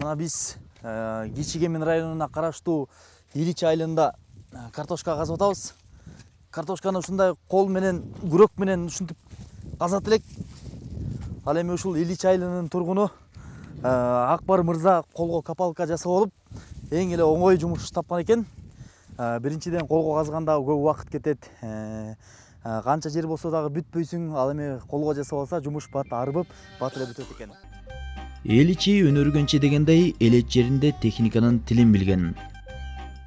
Мына биз Кичи-Кемен районуна караштуу Ильич айылында картошка казып атабыз. Картошканы ушундай кол менен, күрөк менен ушинтип казат элек. Ал эми ушул Ильич айылынын тургуну Акбар мырза колго копалка жасап алып, эң эле оңой жумуш тапкан экен. Биринчиден колго казганда көп убакыт кетет. Канча жер болсо дагы бүтпөйсүң. Ал эми колго жасап алса жумуш бат арбып, бат эле бүтөт экен. Эл ичи өнөргөнчө дегендей, элет жеринде техниканын тилин билген.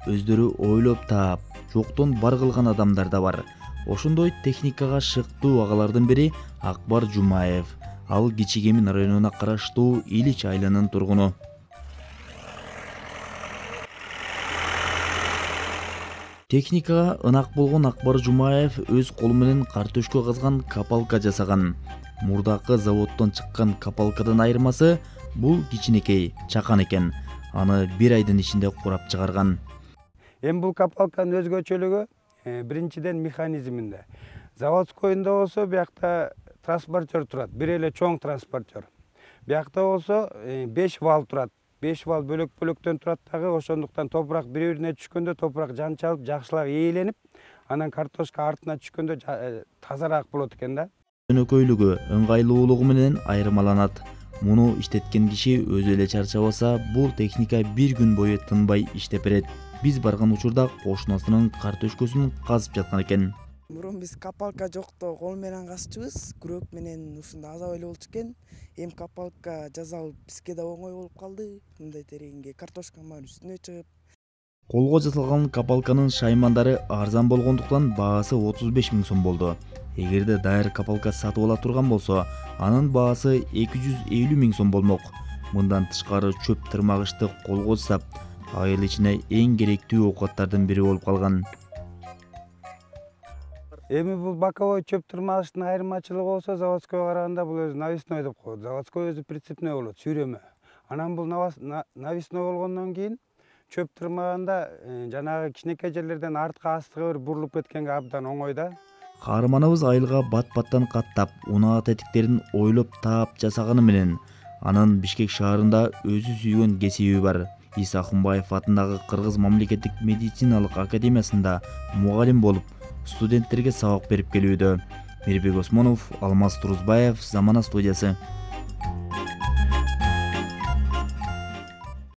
Өздөрү ойлоп таап, жоктон бар кылган адамдар да бар. Ошондой техникага шыктуу агалардын бири Акбар Жумаев. Ал Кичи-Кемен районуна караштуу Ильич айылынын тургуну. Техникага ынак болгон Акбар Жумаев өз колу менен картөшкө казган копалка жасаган. Мурдакы заводдон чыккан копалкадан айырмасы бул кичинекей, чакан экен. Аны бир айдын ичинде курап чыгарган. Эми бул копалканын өзгөчөлүгү биринчиден механизминде. Заводскойунда болсо биякта транспортер турат, бир эле чоң транспортер. Биякта болсо 5 вал турат. 5 вал бөлөк-бөлөктөн турат дагы, ошондуктан топурак бири-бирине түшкөндө топурак жанчалып, жакшылап ээленип, анан картошка артына түшкөндө тазараак болот экен да. Өнөкөйлүгү, ыңгайлуулугу менен айырмаланат. Муну иштеткен киши өзү эле чарчабаса, бул техника бир күн бою тынбай иштеп берет. Биз барган учурда кошунасынын картөшкөсүн казып жаткан экен. Мурун биз копалка жокто кол менен казчубуз, күрөк менен ушундай азап эле болчу экен. Эми копалка жасалып бизге да оңой болуп калды. Мындай тереңге картошка бар үстүнө чыгып. Колго жасалган копалканын шаймандары арзан болгондуктан баасы 35 000 сом болду. Эгерде даяр копалка сатып ала турган болсо, анын баасы 250 000 сом болмок. Мындан тышкары чөп тырмагычты колго жасап, айыл ичине эң керектүү оокаттардын бири болуп калган. Эми бул боковой чөп тырмагычтын айырмачылыгы болсо, заводскойго караганда бул өзү навесной деп коет. Заводской өзү прицепной болот, сүйрөмө. Анан бул навесной болгондон кийин чөп тырмаганда жанагы кичинекей жерлерден артка астыга бир бурулуп кеткенге абдан оңой да. Каарманыбыз айылга бат-баттан каттап, унаа тетиктерин ойлоп таап жасаганы менен анын Бишкек шаарында өзү сүйгөн кесиби бар. Иса Ахунбаев атындагы Кыргыз мамлекеттик медициналык академиясында мугалим болуп, студенттерге сабак берип келүүдө. Мирбек Осмонов, Алмаз Турузбаев, Замана студиясы.